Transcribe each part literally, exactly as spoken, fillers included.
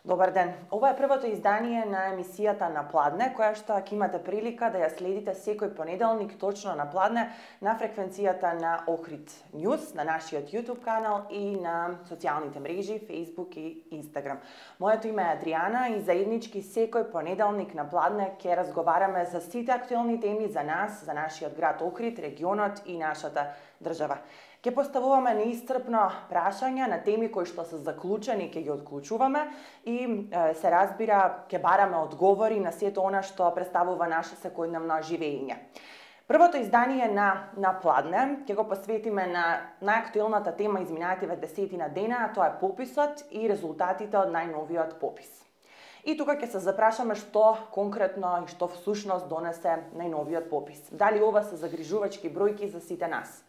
Добар ден. Ова е првото издание на емисијата На Пладне, која што ќе имате прилика да ја следите секој понеделник точно на Пладне на фреквенцијата на Охрид News, на нашиот YouTube канал и на социјалните мрежи Facebook и Instagram. Моето име е Адријана и заеднички секој понеделник на Пладне ќе разговараме за сите актуелни теми за нас, за нашиот град Охрид, регионот и нашата држава. Ке поставуваме неисцрпно прашања на теми кои што се заклучени, ке ги отклучуваме и е, се разбира, ке бараме одговори на сето она што представува наше секојдневно живење. Првото издание на На Пладне ќе го посветиме на најактуелната тема изминативе десетина дена, а тоа е пописот и резултатите од најновиот попис. И тука ќе се запрашаме што конкретно и што всушност донесе најновиот попис. Дали ова се загрижувачки бројки за сите нас?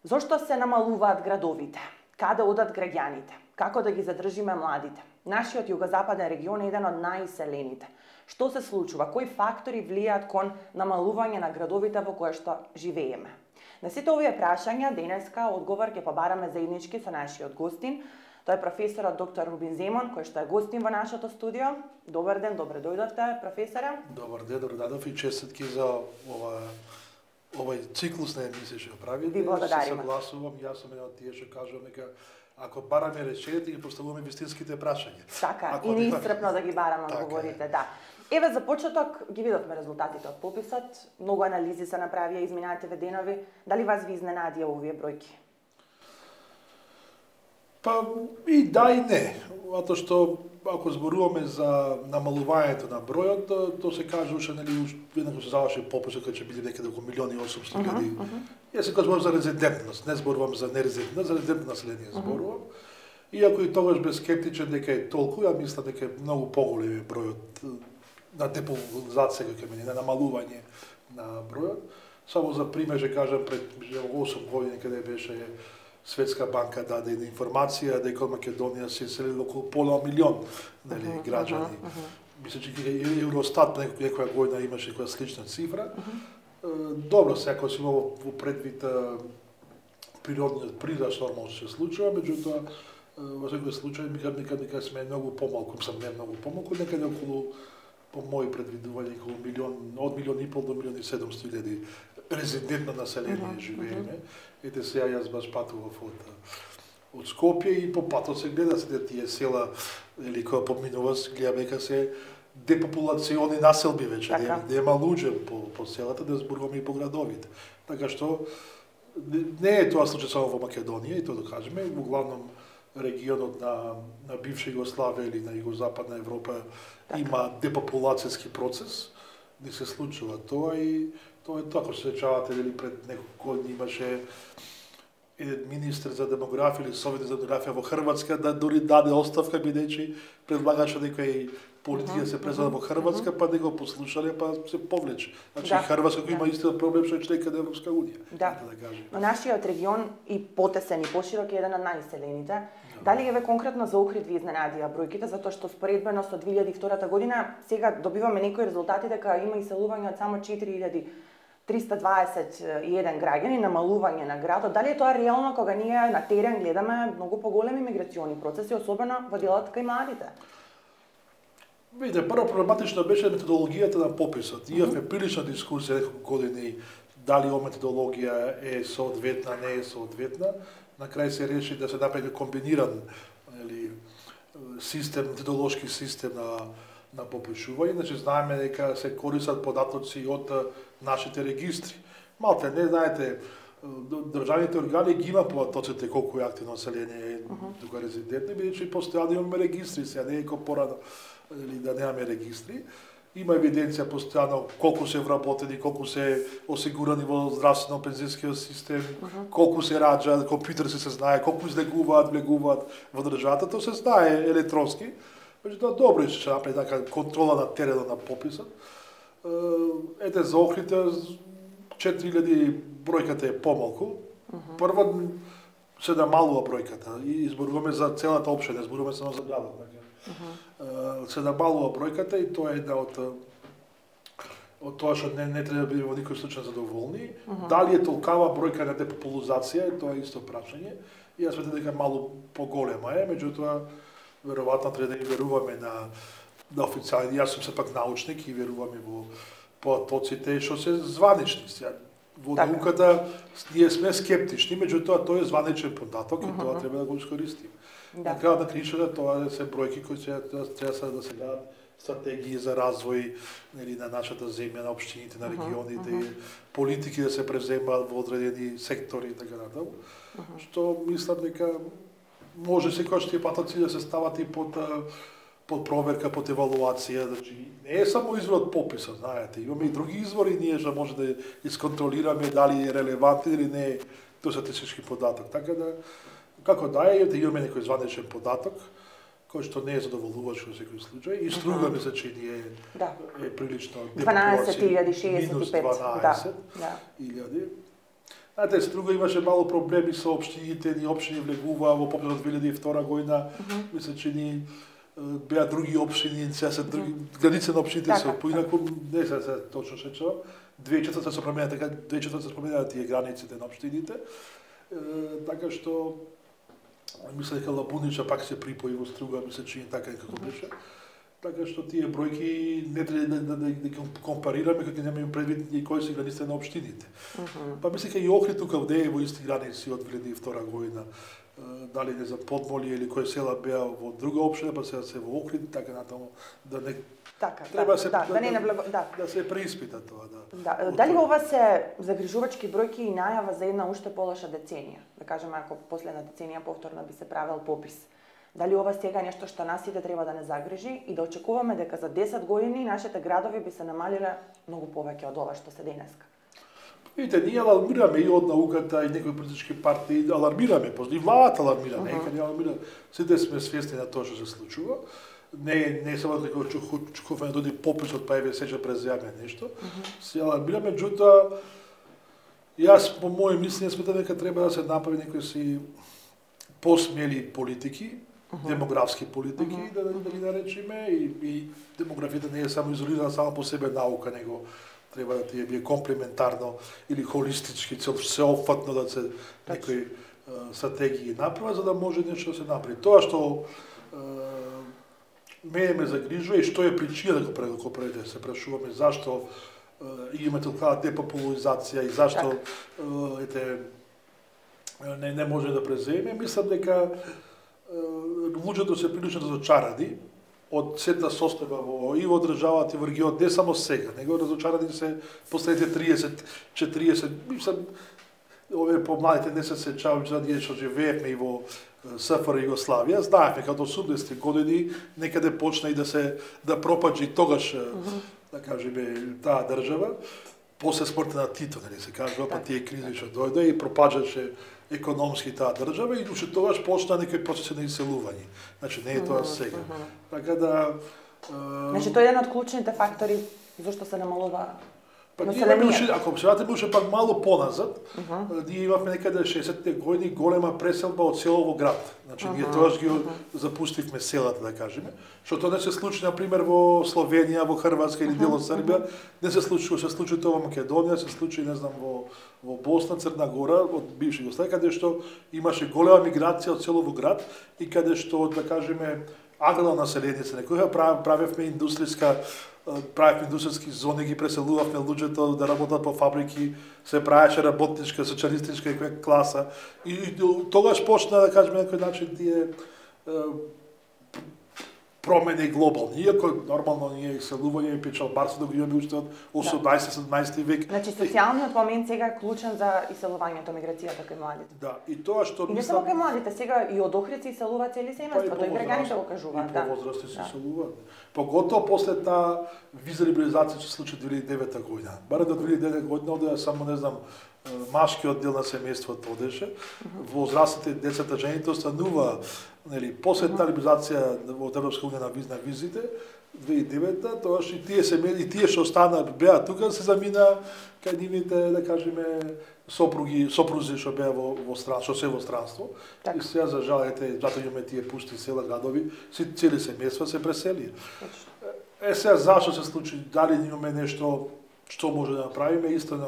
Зошто се намалуваат градовите? Каде одат граѓаните? Како да ги задржиме младите? Нашиот југозападен регион е еден од најиселените. Што се случува? Кои фактори влијаат кон намалување на градовите во кои што живееме? На сите овие прашања денеска одговор ќе побараме заеднички со нашиот гостин. Тој е професорот доктор Рубин Земон, кој што е гостин во нашето студио. Добар ден, добре дојдовте, професоре. Добар ден, добре дојдов и честитки за ова овој циклус на емисија што правите. Ви благодариме. Се согласувам, јас сум еден од тие што кажувам дека ако бараме решењето ги поставуваме вистинските прашања. Така, ако и неисцрпно да ги бараме одговорите, да. Еве за почеток ги видовме резултатите од пописот, многу анализи се направија изминативе денови. Дали вас ви изненадија овие бројки? Па и да и не, затоа што ако зборуваме за намалувањето на бројот, тоа се кажуваше, нели, веднаш се заврши пописот кога ќе биде некаде околу милион и осумстотини илјади. Uh -huh. Јас се зборувам за резидентност, не зборувам за нерезидентност, за резидентно население зборувам. Uh -huh. Иако и тогаш бе скептичен дека е толку, ја мислам дека е многу поголем бројот на депопулација кој ќе мине, на намалување на бројот. Само за пример ќе кажам, пред осум години каде беше Светска банка даде информација дека од Македонија се иселило околу пола милион, нели, uh -huh, граѓани. Uh -huh. Мисля че Евростат некоја година имаше некоја слична цифра. Uh -huh. Добро, секој си во предвид природниот прираст нормално се случува, меѓутоа во секој случај ми кажа дека сме многу помалку, сам не многу помалку, некаде околу, по мои предвидувања, околу милион, од милион и пол до милион и седумстотини илјади резидентно население uh -huh, живееме. Uh -huh. Ете сега јас баш патував од, од Скопје и по патот се гледа се тие села, или која поминува, гледа дека се депопулациони населби вече, така. Нема луѓе по, по селата, да зборуваме и по градовите. Така што не е тоа случај само во Македонија, и тоа да кажеме, во главном регионот на, на бивша Југославија или на Југозападна Европа така. Има депопулацијски процес, не се случува тоа и тоа е така, се сеќавате дали пред неколку години имаше еден министр за демографија или совет за демографија во Хрватска да дори даде оставка бидејќи предлагаше дека и политија се презела во Хрватска, па не го послушале, па се повлече. Значи да, Хрватска кој да. Има истиот проблем што е членка на Европска унија. Да. Да но нашиот регион и потесен и поширок е еден од најиселените. Да. Дали еве конкретно за Охрид ви изненадија бројките, затоа што споредбено со две илјади и втора година сега добиваме некои резултати дека има иселување од само четири илјади триста дваесет и еден граѓани, намалување на градот. Дали е тоа реално кога ние на терен гледаме многу поголеми миграциони процеси, особено во делот кај младите? Видите, прво проблематично беше методологијата на пописот. Имавме прилична дискусија неколку години дали ова методологија е соодветна, не е соодветна. На крај се реши да се направи комбиниран или систем, методолошки систем на на попишување, значи знаеме дека се користат податоци од нашите регистри. Малте не знаете, државните органи ги има податоците колку е активно население тука резидентно, бидејќи постојано имаме регистри, сега не е како порано или да немаме регистри. Има евиденција постојано колку се вработени, колку се осигурани во здравствено-пензискиот систем, uh -huh. колку се раѓа, компјутер се знае, колку излегуваат, влегуваат во државата, тоа се знае електронски. Меѓутоа добро е што направи така контрола на теренот на пописот. Ете за Охрид четири илјади бројката е помалку. Uh -huh. Прво се намалува бројката и зборуваме за целата општина, зборуваме само за градот, така. Uh -huh. Се намалува бројката и тоа е една од од тоа што не, не треба да биде во никој случај задоволни. Uh -huh. Дали е толкава бројка на депопулизација, тоа е исто прашање. И јас сметам дека малку поголема е, меѓутоа веројатно треба да и веруваме на на официјални. Јас сум сепак научник и веруваме во потоците што се званични. Во науката ние сме скептични, меѓутоа тоа е званичен податок и тоа треба да го искористиме. Да. На крајот на кришата тоа се бројки кои се треба да се гледат стратегии за развој, нели, на нашата земја, на општините, на регионите, uh -huh. политики да се преземаат во одредени сектори и така натаму. Uh -huh. Што мислам дека може секогаш тие патоци да се стават и под под проверка, под евалуација, значи не е само извор од пописот, знаете, имаме и други извори ние што може да исконтролираме дали е релевантен или не е тој статистички податок. Така да како да е, да имаме некој званичен податок кој што не е задоволуваш во секој случај и струга мисля че ни е да. Е прилично дванаесет илјади шеесет и пет дванаесет илјади. Знаете, струга имаше мало проблеми со општините, ни општини влегуваа во пописот од две илјади и втора година, uh -huh. мисля че ни беа други општини, сега се други граници на општините се поинаку, не се се точно шечо. две илјади и четврта се променаа така, две илјади и четврта се променаа тие границите на општините. Така што мисля дека Лабунича пак се припои во струга, мисля че така како беше. Така што тие бројки не треба да, да, да, да компарираме кога немаме предвид и кои се границите на општините. Uh -huh. Па мисля дека и Охрид тука вде е во исти граници од две илјади и втора година. Дали не за Подмолие или кои села беа во друга општина, па сега се во Охрид, така натаму да не така, треба да, се да, да, да, не наблаг... да. да се преиспита тоа, да. Да. Дали ова се загрижувачки бројки и најава за една уште полоша деценија? Да кажеме, ако последна деценија повторно би се правел попис. Дали ова сега нешто што нас сите треба да не загрижи и да очекуваме дека за десет години нашите градови би се намалиле многу повеќе од ова што се денеска? Видите, ние алармираме и од науката и некои политички партии, алармираме, и владата алармира, uh -huh. нека не алармира. Сите сме свесни на тоа што се случува. Не не само дека чукуваме доди пописот па еве сече през јавно нешто. Uh -huh. Се алармираме, меѓутоа јас по моје мислење сметам дека треба да се направи некои си посмели политики, uh -huh. демографски политики, uh -huh. да, да ги наречеме, и, и демографијата не е само изолирана само по себе наука, него треба да ти е комплементарно или холистички, цел сеопфатно да се некои uh, стратегии направи, за да може нешто да се направи. Тоа што uh, мене ме загрижува и што е причина да го преде се прашуваме зашто uh, имаме толкова депопулизација и зашто uh, ете не не може да преземе, мислам дека луѓето се прилично разочарани од сета состојба во и во државата и во регионот, не само сега, него разочарани се последните триесет четириесет, мислам, овие помладите не се сеќавам за ние што живеевме и во СФР Југославија, знаевме како од осумдесетти години некаде почна и да се да пропаѓа тогаш, uh -huh. да кажеме, таа држава, после смртта на Тито, нели се кажува, па тие кризи што дојде и пропаѓаше економски таа држава и уште тогаш почна некои процеси на иселување. Значи не е тоа сега. Uh -huh. Така да uh... Значи тоа е еден од клучните фактори зашто се намалува. Па ние имаме уште, ако се вратиме уште пак мало поназад, uh -huh. ние имавме некаде шеесетте години голема преселба од село во град. Значи uh -huh. ние тогаш ги uh -huh. запустивме селата, да кажеме, што тоа не се случи на пример во Словенија, во Хрватска или дел од Србија, не се случи, се случи тоа во Македонија, се случи не знам во во Босна, Црна Гора, од бивши Југославија, каде што имаше голема миграција од село во град и каде што, да кажеме, аграрно население се некоја правевме индустријска правевме индустријски зони, ги преселувавме луѓето да работат по фабрики, се правеше работничка, социјалистичка некоја класа и, и тогаш почна, да кажеме, на некој начин тие промени глобални. Иако нормално ние иселување и печалбарство да го имаме уште од осумнаесети-седумнаесети век. Значи социјалниот момент сега е клучен за иселувањето, миграцијата кај младите. Да, и тоа што и не само кај младите, сега и од Охрид се иселуваат цели семејства, тоа и граѓаните го кажуваат, да. И повозрасти се иселуваат. Поготово после таа виза либерализација се случи две илјади и девета година. Барем до две илјади и девета година одеа само, не знам, машкиот дел на семејството одеше, возрастните децата, жените останува, нели, после талибизација во Европска унија на, виз, на визите, две илјади и девета, тоаш и тие семејства, и тие што остана беа тука се замина кај нивните, да кажеме, сопруги, сопрузи што беа во во стран, што се во странство. Так. И сега за жал ете, затоа имаме тие пусти села, градови, си цели семејства се пресели. Е сега зашто се случи, дали имаме нешто што може да направиме, истина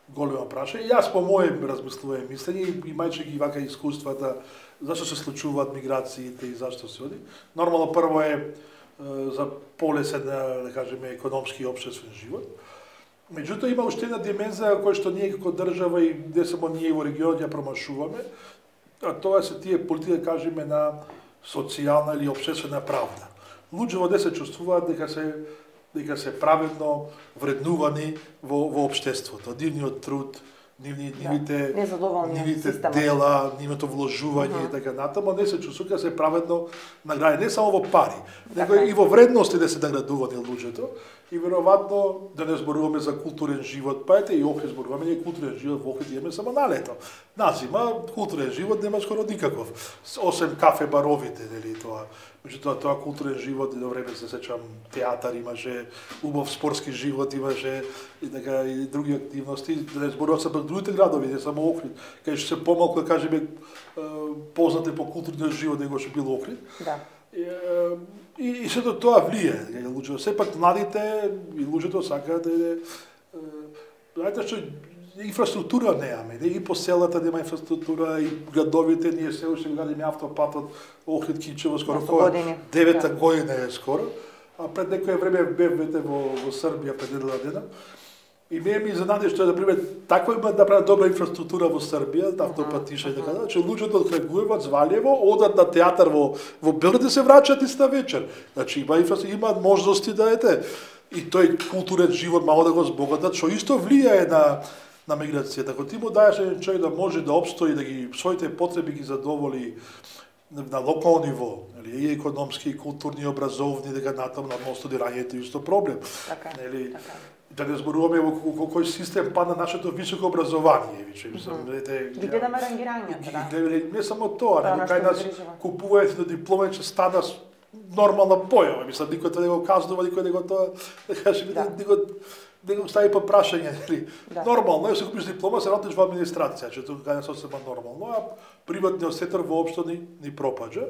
голема праша. И јас по моје размислување мислење, имајќи ги вака искуствата, зашто се случуваат миграциите и зашто се оди. Нормално прво е за полесен, да кажеме, економски и општествен живот. Меѓутоа има уште една димензија која што ние како држава и не само ние во регионот ја промашуваме, а тоа се тие политики, да кажеме, на социјална или општествена правда. Луѓе во се чувствуваат дека се дека се праведно вреднувани во во општеството. Нивниот труд, нивни, нивните, да, нивните дела, нивното вложување uh -huh. и така натаму, не се чувствува дека се праведно наградени, не само во пари, него и во вредности да се наградувани луѓето. И веројатно да не зборуваме за културен живот, па ете и Охрид зборуваме, ние културен живот во Охрид имаме само на лето. На зима културен живот нема скоро никаков, осем кафе баровите, нели тоа. Меѓутоа тоа културен живот и до време се сеќам театар имаше, убав спортски живот имаше и така и други активности. Да не зборувам за другите градови, не само Охрид, кај што се помалку да кажеме познати по културниот живот него што бил Охрид. Да. И, и сето тоа влие, луѓето, сепак младите и луѓето сакаат да иде, знаете што инфраструктура немаме, не и по селата нема инфраструктура и градовите, ние се уште градиме автопатот Охрид Кичево скоро која девета година е скоро, а пред некое време бевте во во Србија пред недела дена. И ме ми изненади што, например, таква има да прават добра инфраструктура во Србија, да автопатиша и така да, че луѓето од Крагуеваc, Валјево, одат на театар во во Белград и се враќаат иста вечер. Значи има инфраструктура, има можности да ете и тој културен живот мало да го збогатат, што исто влијае на на миграцијата. Ако ти му даеш еден човек да може да опстои, да ги своите потреби ги задоволи на локално ниво, нели, и економски, и културни, и образовни, дека натаму на студирањето е исто проблем. Така, нели, така. Да не зборуваме во кој систем падна нашето високо образование, више, мислам, ете, ги гледаме рангирањето, да. Не само тоа, него кај нас купуваат на диплома че стана нормална појава, мислам, никој тоа не го казнува, никој не го тоа, да кажеме, не го не го стави под прашање, нели? Да. Нормално е, се купиш диплома, се работиш во администрација, че тоа е сосема нормално, а приватниот сектор воопшто ни, ни пропаѓа.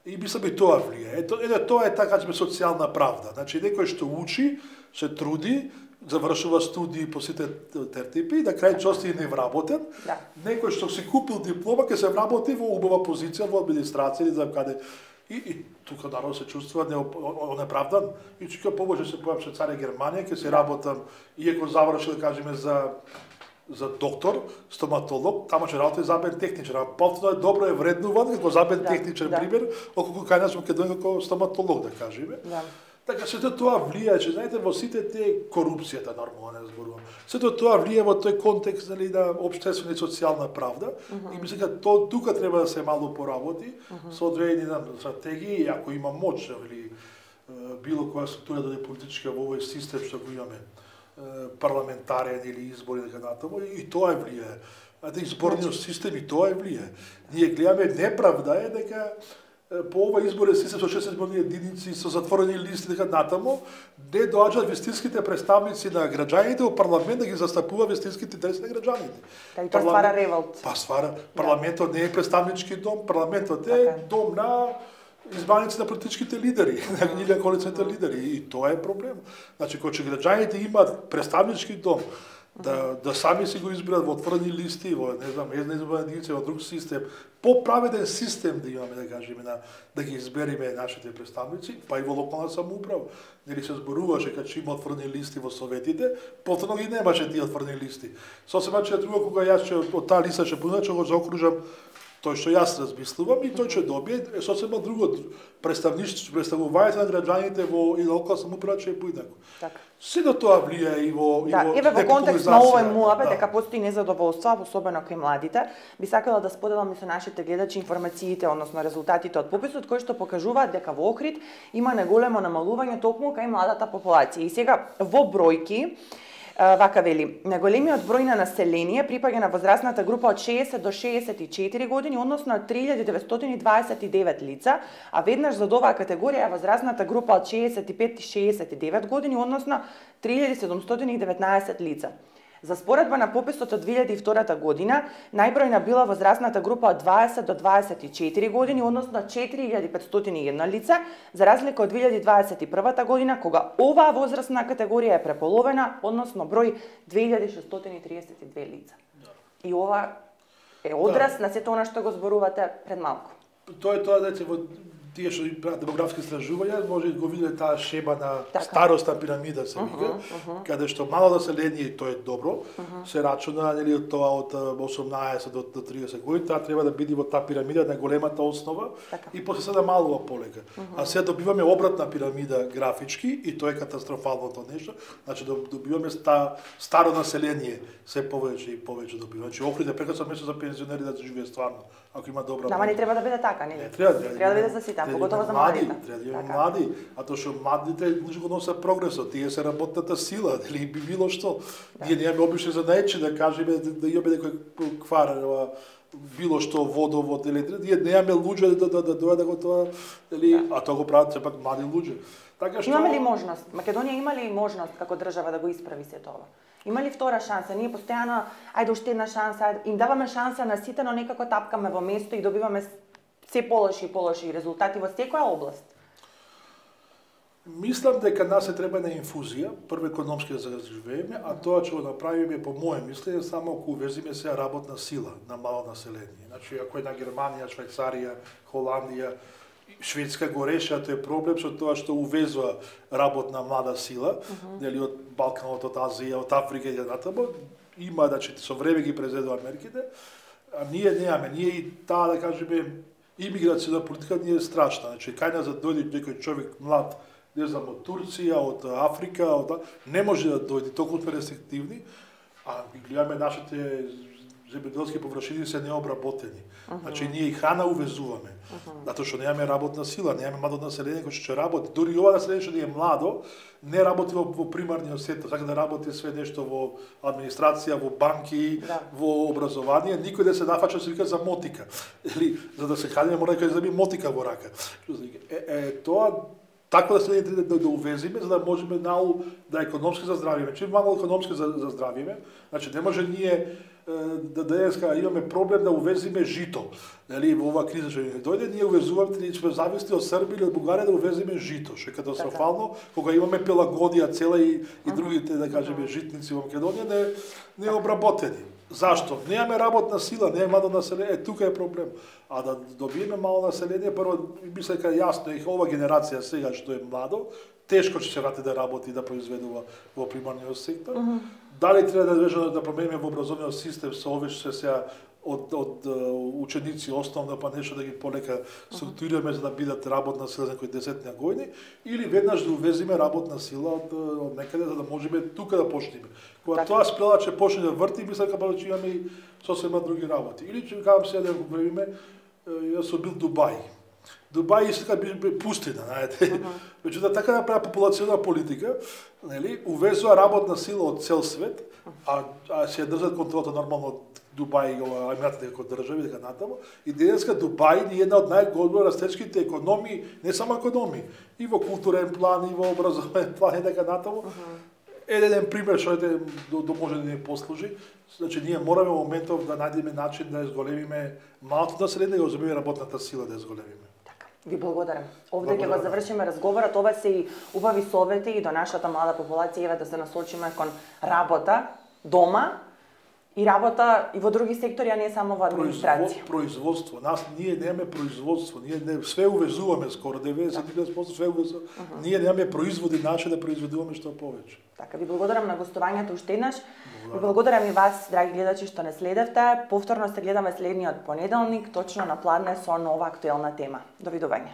И мислам и тоа влијае. Ето, ето тоа е така, кажеме, социјална правда. Значи, некој што учи, се труди, завршува студии по сите тертипи и на крај ќе остане невработен. Да. Некој што си купил диплома, ќе се вработи во убава позиција во администрација или за каде. И, и тука народ се чувствува неправдан. И чека побоже се појам Швајцарија, Германија, ќе се работам, иако завршил, да кажеме, за за доктор, стоматолог, тама ќе работи забен техничар. А повторно е добро е вреднуван како забен да, техничар, да. Пример, околку кај нас во Македонија како стоматолог, да кажеме. Да. Така сето тоа влијае, че знаете во сите тие корупцијата нормално не зборувам. Сето тоа влијае во тој контекст нели на општествена и социјална правда. Uh -huh. И мислам дека тоа тука треба да се мало поработи uh -huh. со одредени стратегии, ако има моќ или било која структура да е политичка во овој систем што го имаме, парламентарен или избори дека натаму, и тоа е влијае. Знаете, изборниот систем и тоа е влијае. Ние гледаме неправда е дека по ова изборен систем со шесет изборни единици, со затворени листи дека натаму, не доаѓаат вистинските представници на граѓаните во парламент да ги застапува вистинските интереси на граѓаните. Кај тоа ствара револт. Па ствара. Парламентот не е представнички дом, парламентот е дом на избраници на политичките лидери, на коалицијните лидери, и тоа е проблем. Значи, кога граѓаните имаат представнички дом, да да сами си го изберат во отворени листи, во не знам, една изборна единица, во друг систем, поправеден систем да имаме, да кажеме, на да ги избериме нашите представници, па и во локална самоуправа. Нели се зборуваше кога има отворени листи во советите, повторно ги немаше тие отворени листи. Сосема че друго кога јас ќе од таа листа ќе понудам, ќе го заокружам тој што јас размислувам и тој ќе добие е сосема друго представништво, представувањето на граѓаните во и локална самоуправа ќе е поинако. Така. Сето тоа влијае и во и да, во еве во контекст на овој муабет дека постои незадоволство, особено кај младите, би сакала да споделам со нашите гледачи информациите, односно резултатите од пописот кои што покажуваат дека во Охрид има неголемо намалување токму кај младата популација. И сега во бројки Вака вели, најголемиот број на население припаѓа на возрастната група од шеесет до шеесет и четири години, односно три илјади деветстотини дваесет и девет лица, а веднаш за оваа категорија е возрастната група од шеесет и пет до шеесет и девет години, односно три илјади седумстотини и деветнаесет лица. За споредба на пописот од две илјади и втора година, најбројна била возрастната група од дваесет до дваесет и четири години, односно четири илјади петстотини и едно лице, за разлика од две илјади дваесет и прва година, кога оваа возрастна категорија е преполовена, односно број две илјади шестстотини и триесет и две лица. И ова е одраз да. на сето она што го зборувате пред малку. Тоа е тоа, дете, во тие што прават демографски истражувања, може да го видите таа шема на така. старосна пирамида, се вика, uh -huh, uh -huh. каде што мало население, и тоа е добро, uh -huh. се рачуна, нели, од тоа од осумнаесет до, до триесет години, таа треба да биде во таа пирамида на големата основа, така. И после се да малува полека. Uh -huh. А сега добиваме обратна пирамида графички, и тоа е катастрофалното нешто, значи добиваме ста, старо население, се повеќе и повеќе добиваме. Значи Охрид е прекрасно место за пензионери да живее стварно, ако има добра. Нама не треба да биде така, нели? Не треба, да, треба да биде за сите, поготово за младите. Треба да има млади, а тоа што младите луѓе го носат прогресот, тие се работната сила, или би било што. Да. Ние немаме обичај за наечи да кажеме да, да имаме некој квар, било што водовод или ние немаме луѓе да да да дојдат да го тоа, или да. А тоа го прават сепак млади луѓе. Така што имаме ли можност? Македонија има ли можност како држава да го исправи се тоа? Има ли втора шанса? Ние постојано, ајде уште една шанса, ајде, им даваме шанса на сите, но некако тапкаме во место и добиваме се полоши и полоши резултати во секоја област. Мислам дека нас се треба на инфузија, прво економски да заживееме, а тоа ќе го направиме по моје мислење само ако увезиме се работна сила на мало население. Значи ако е на Германија, Швајцарија, Холандија, Шведска го решава тој проблем со тоа што увезува работна млада сила, uh -huh. нели од Балканот, од Азија, од Африка и натаму, има значи со време ги презедува мерките, а ние немаме, ние и таа да кажеме имиграцијна политика ни е страшна. Значи кај нас да дојде некој човек млад, не знам, од Турција, од Африка, од не може да дојде, толку сме рестриктивни, а ги гледаме нашите земјоделски површини се необработени. Uh -huh. Значи ние и храна увезуваме. Uh -huh. Затоа што немаме работна сила, немаме младо население кој ќе работи. Дури и ова население што не е младо, не работи во, во примарниот сектор, сака да работи све нешто во администрација, во банки, да. Во образование, никој да се нафача се вика за мотика. Или за да се храниме мора да заби мотика во рака. Е, е тоа така да се да, да, да увезиме, за да можеме наул да економски заздравиме. Чим мало економски заздравиме, значи не може ние да денеска имаме проблем да увезиме жито. Нели во оваа криза што ни дојде, ние увезуваме, ние сме зависни од Србија или од Бугарија да увезиме жито, што е катастрофално, кога имаме Пелагонија цела и, и другите, да кажеме, житници во Македонија не не обработени. Зашто? Немаме работна сила, немаме младо население, е, тука е проблем. А да добиеме мало население, прво, мисля дека јасно е ова генерација сега што е младо, тешко ќе се врати да работи и да произведува во примарниот сектор. Uh -huh. Дали треба да вежа да промениме во образовниот систем со овие што се сега од од ученици основно па нешто да ги полека структурираме за да бидат работна сила за кои десет години или веднаш да увезиме работна сила од од некаде за да можеме тука да почнеме. Кога тоа спрела ќе почне да врти, мисля дека ќе имаме и сосема други работи. Или ќе кажам сега да го време, јас сум бил Дубај. Дубај иска би пустина, знаете. Меѓутоа така направи популационна политика, нели, увезува работна сила од цел свет, а, а се држат контролата нормално Дубај и Емиратите како држави дека натаму. И денеска Дубај е една од најголемо растечките економии, не само економии, и во културен план, и во образовен план и дека натаму. Еден пример што е до, до може да ни послужи, значи ние мораме во моментов да најдеме начин да изголемиме малото население и да земеме работната сила да изголемиме. Ви благодарам. Овде ќе го завршиме разговорот. Ова се и убави совети и до нашата млада популација еве да се насочиме кон работа дома и работа и во други сектори, а не само во администрација. Производство. Нас ние немаме производство. Ние не, све увезуваме скоро деветдесет и пет проценти све увезуваме. Uh -huh. Ние немаме производи наши да произведуваме што повеќе. Така, ви благодарам на гостувањето уште еднаш. Ви благодарам и вас, драги гледачи, што не следевте. Повторно се гледаме следниот понеделник, точно на Пладне со нова актуелна тема. Довидување.